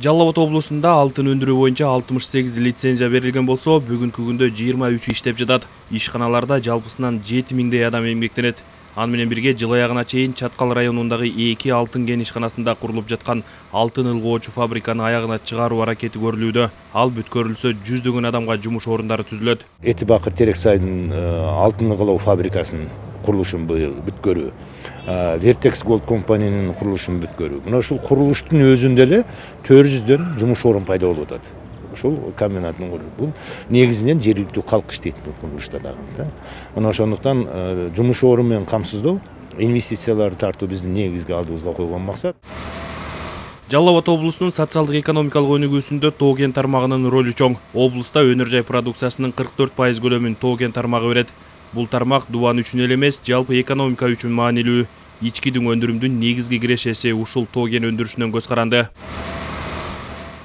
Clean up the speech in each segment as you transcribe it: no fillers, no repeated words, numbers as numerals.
Жалал Абад облусунда алтын өндүрүү боюнча 68 лицензия берилген болсо, бүгүнкү күндө 23 иштеп жатат. Ишканаларда жалпысынан 7000дей адам эмгектенет. Аны менен бирге жыл аягына чейин Чаткал районундагы 2 алтын кен ишканасында курулуп жаткан алтын ылгоочу фабриканы аягына чыгаруу аракети көрүлүүдө. Ал бүткөрүлсө, жүздөгөн адамга жумуш орундары түзүлөт. Эти Бакыр Терексайдын алтын ылгоо фабрикасынын курулушун быйыл бүткөрүү, Vertex Gold компаниянын курулушун бүткөрүү. Мына ушул курулуштун өзүндө эле 400дөн жумуш орун пайда болуп атат. Ушул комбинаттын курулушу. Бул негизинен жергиликтүү калк иштейт бул курулушта дагы. Мына ошондуктан жумуш орун менен камсыздоо, инвестицияларды тартуу биздин негизги алдыбызга койгон максат. Жалал Абад облусунун социалдык экономикалык өнүгүүсүндө тоо кен тармагынын ролу чоң. Облуста өнөр жай продукциясынын 44% көлөмүн тоо кен тармагы берет. Бул тармак дубан үчүн эле эмес, жалпы экономика үчүн маанилүү. Ички дүң өндүрүмдүн негизги кирешеси ушул тоо кен өндүрүшүнөн көз каранды.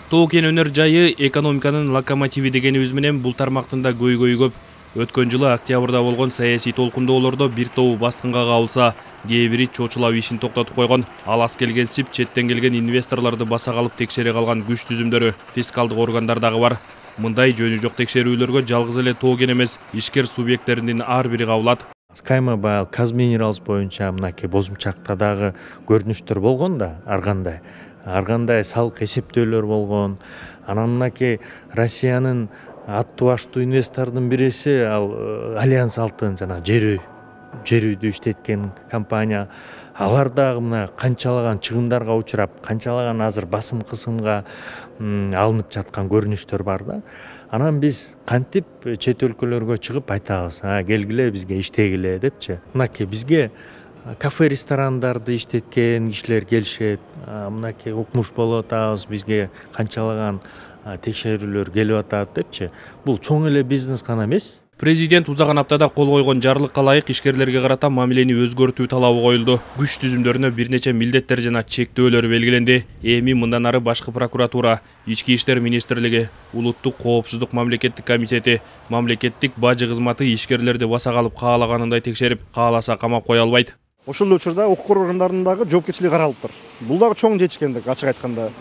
Тоо кен өнөр жайы экономиканын локомотиви дегенибиз менен бул тармактын да көйгөйү көп. Өткөн жылы октябрда болгон саясий толкундоолордо бир тобу баскынга кабылса, кээ бири чочулап ишин токтотуп койгон. Ал аз келгенсип четтен келген инвесторлорду баса калып текшере калган күч түзүмдөрү фискалдык органдар дагы бар. Мындай жөнү жок текшерүүлөргө жалгыз эле тоо кен эмес, ишкер субъекттеринин ар бири кабылат. Скаймобайл, Казминералс боюнча мынакей бозумчакта дагы көрүнүштөр болгон да, ар кандай салык эсептөөлөр болгон. Анан мынакей Россиянын аттуу баштуу инвестордун бириси ал Альянс алтын жана жер үйдү иштеткен компания. Алар дагы мына канчалаган чыгымдарга учурап, канчалаган азыр басым кысымга алынып жаткан көрүнүштөр бар да. Анан биз кантип чет өлкөлөргө чыгып айтабыз, келгиле бизге иштегиле депчи. Мынакей бизге кафе ресторандарды иштеткен кишилер келишет. Мынакей укмуш болуп атабыз, бизге канчалаган текшерүүлөр келип атат депчи. Бул чоң эле бизнес гана эмес. Президент узаган аптада кол койгон жарлыкка ылайык ишкерлерге карата мамилени өзгөртүү талабы коюлду. Күч түзүмдөрүнө бир нече милдеттер жана чектөөлөр белгиленди. Эми мындан ары башкы прокуратура, Ички иштер министрлиги, Улуттук коопсуздук мамлекеттик комитети, мамлекеттик бажы кызматы ишкерлерди баса калып каалаганындай текшерип, кааласа камап кое албайт. Ошол учурда укук органдарынын дагы жоопкерчилиги каралыптыр. Бул дагы чоң жетишкендик, ачык айтканда.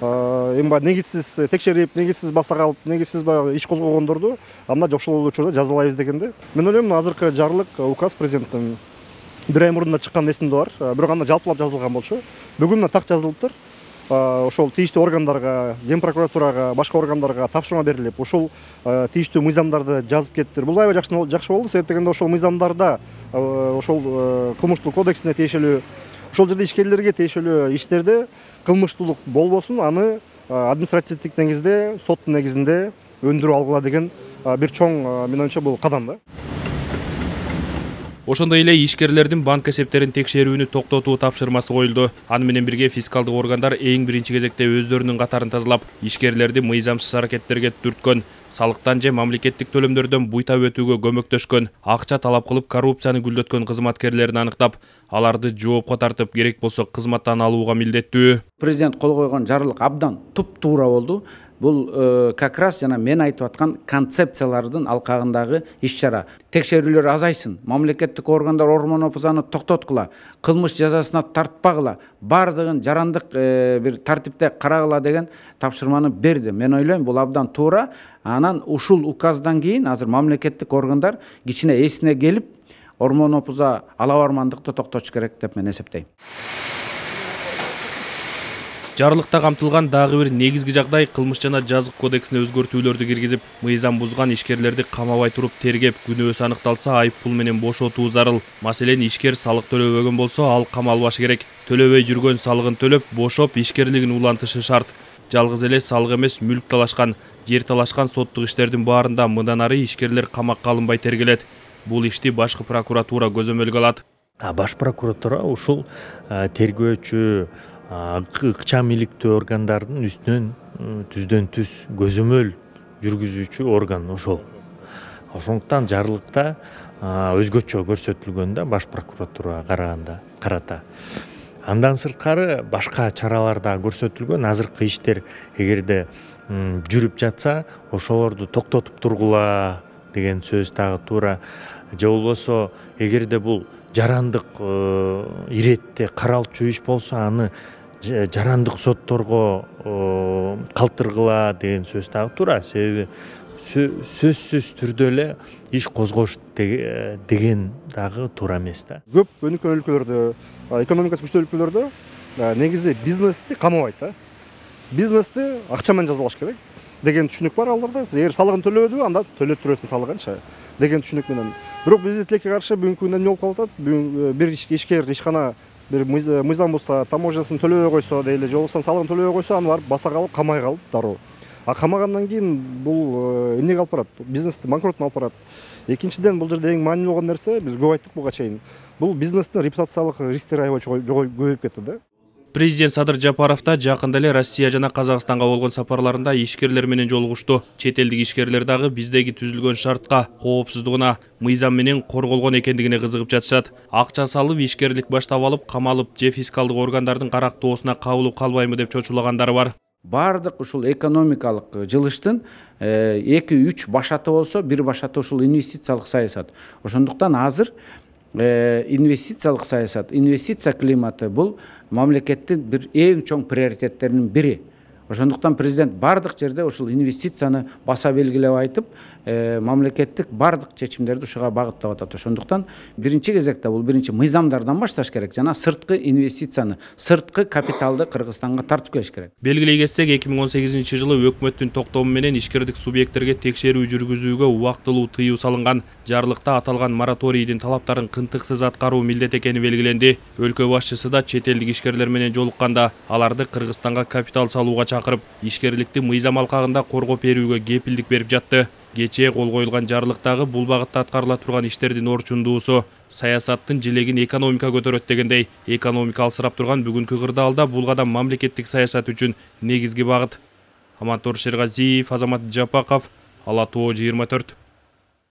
Эми баягы негизсиз текшерип, негизсиз баса калып, негизсиз баягы иш козгогондорду анда ошол учурда жазалайбыз дегенде. Мен ойлойм, азыркы жарлык указ президенттин бир ай мурда чыккан эсимде бар. Бирок анда жалпылап жазылган болчу. Бүгүн так жазылыптыр. Ошол тийиштүү органдарга, Ген прокуратурага, башка органдарга тапшырма берилип, ушул тийиштүү мыйзамдарды жазып кеттир. Бул аябай жакшы болду, себеп дегенде ошол мыйзамдарда ошол кылмыштуу кодексине тиешелүү, ошол жерде ишкерлерге тиешелүү иштерде кылмыштуулук болбосун, аны административдик негизде, соттун негизинде өндүрүп алгыла деген бир чоң, мен оюмча, бул кадам да. Ошондой эле ишкерлердин банк эсептерин текшерүүнү токтотуу тапшырмасы коюлду. Аны менен бирге фискалдык органдар эң биринчи кезекте өздөрүнүн катарын тазалап, ишкерлерди мыйзамсыз аракеттерге түрткөн, салыктан же мамлекеттик төлөмдөрдөн буйтап өтүүгө көмөктөшкөн, акча талап кылып коррупцияны гүлдөткөн кызматкерлерин аныктап, аларды жоопко тартып, керек болсо кызматтан алууга милдеттүү. Президент кол койгон жарлык абдан туп-туура болду. Бул как раз жана мен айтып аткан концепциялардын алкагындагы иш-чара. Текшерүүлөр азайсын, мамлекеттик органдар ормон-опузаны токтоткула, кылмыш жазасына тартпагыла, бардыгын жарандык бир тартипте карагыла деген тапшырманы берди. Мен ойлойм, бул абдан туура. Анан ушул указдан кийин азыр мамлекеттик органдар кичине эсине келип, ормон-опуза алабармандыкты токтотуш керек деп мен эсептейм. Жарлыкта камтылган дагы бир негизги жагдай кылмыш жана жазык кодексине өзгөртүүлөрдү киргизип, мыйзам бузган ишкерлерди камабай туруп тергеп, күнөөсү аныкталса айып пул менен бошотуу зарыл. Маселен, ишкер салык төлөбөгөн болсо, ал камалбашы керек. Төлөбөй жүргөн салыгын төлөп, бошоп, ишкерлигин улантышы шарт. Жалгыз эле салык эмес, мүлк талашкан, жер талашкан соттук иштердин баарында мындан ары ишкерлер камакка алынбай тергелет. Бул ишти башкы прокуратура көзөмөлгө алат. Баш прокуратура ушул тергөөчү, ыкчам иликтүү органдардын үстүнөн түздөн түз көзөмөл жүргүзүүчү орган ошол. Ошондуктан жарлыкта өзгөчө көрсөтүлгөн да баш прокуратурага карата. Андан сырткары башка чаралар да көрсөтүлгөн. Азыркы иштер эгерде жүрүп жатса, ошолорду токтотуп тургула деген сөз дагы туура. Же болбосо, эгерде бул жарандык иретте каралчу иш болсо, аны жарандык сотторго калтыргыла деген сөз дагы туура. Себеби сөзсүз түрдө эле иш козгош деген дагы туура эмес да. Көп өнүккөн өлкөлөрдө, экономикасы күчтүү өлкөлөрдө негизи бизнести камабайт да. Бизнести акча менен жазалаш керек деген түшүнүк бар аларда. Сиз эгер салыгын төлөбөдүбү, анда төлөп турасың салыгынчы деген түшүнүк менен. Бирок биздин тилекке каршы бүгүнкү күндө эмне болуп калат? Бир ишкер, ишкана бир мыйзам болсо, таможнясын төлөбөй койсо дейли, же болбосо салыгын төлөбөй койсо, аны барып баса калып, камай калып дароо. Камагандан кийин бул эмнеге алып барат? Бизнести банкротуна алып барат. Экинчиден, бул жерде эң маанилүү болгон нерсе, биз көп айттык буга чейин. Бул бизнестин репутациялык рисктери аябай көбөйүп кетти да. Президент Садыр Жапаров да жакында эле Россия жана Казакстанга болгон сапарларында ишкерлер менен жолугушту. Чет элдик ишкерлер дагы биздеги түзүлгөн шартка, коопсуздугуна, мыйзам менен корголгон экендигине кызыгып жатышат. Акча салып ишкерлик баштап алып, камалып же фискалдык органдардын карактоосуна кабылып калбайбы деп чочулагандары бар. Бардык ушул экономикалык жылыштын 2-3 башаты болсо, бир башаты ушул инвестициялык саясат. Ошондуктан азыр инвестициялык саясат, инвестиция климаты бул мамлекеттин бир эң чоң приоритеттеринин бири. Ошондуктан президент бардык жерде ушул инвестицияны баса белгилеп айтып, мамлекеттик бардык чечимдерди ушуга багыттап атат. Ошондуктан биринчи кезекте бул биринчи мыйзамдардан башташ керек жана сырткы инвестицияны, сырткы капиталды Кыргызстанга тартып келиш керек. Белгилей кетсек, 2018-жылы өкмөттүн токтому менен ишкердик субъекттерге текшерүү жүргүзүүгө убактылуу тыюу салынган. Жарлыкта аталган мораторийдин талаптарын кынтыксыз аткаруу милдет экени белгиленди. Өлкө башчысы да чет элдик ишкерлер менен жолукканда аларды Кыргызстанга капитал салууга чакырып, ишкерликти мыйзам алкагында коргоп берүүгө кепилдик берип жатты. Кечээ кол коюлган жарлыктагы бул багытта аткарыла турган иштердин орчундуусу саясаттын желегин экономика көтөрөт дегендей, экономика алсырап турган бүгүнкү кырдаалда бул кадам мамлекеттик саясат үчүн негизги багыт. Амантор Шергазиев, Азамат Жапаков, Ала Тоо 24.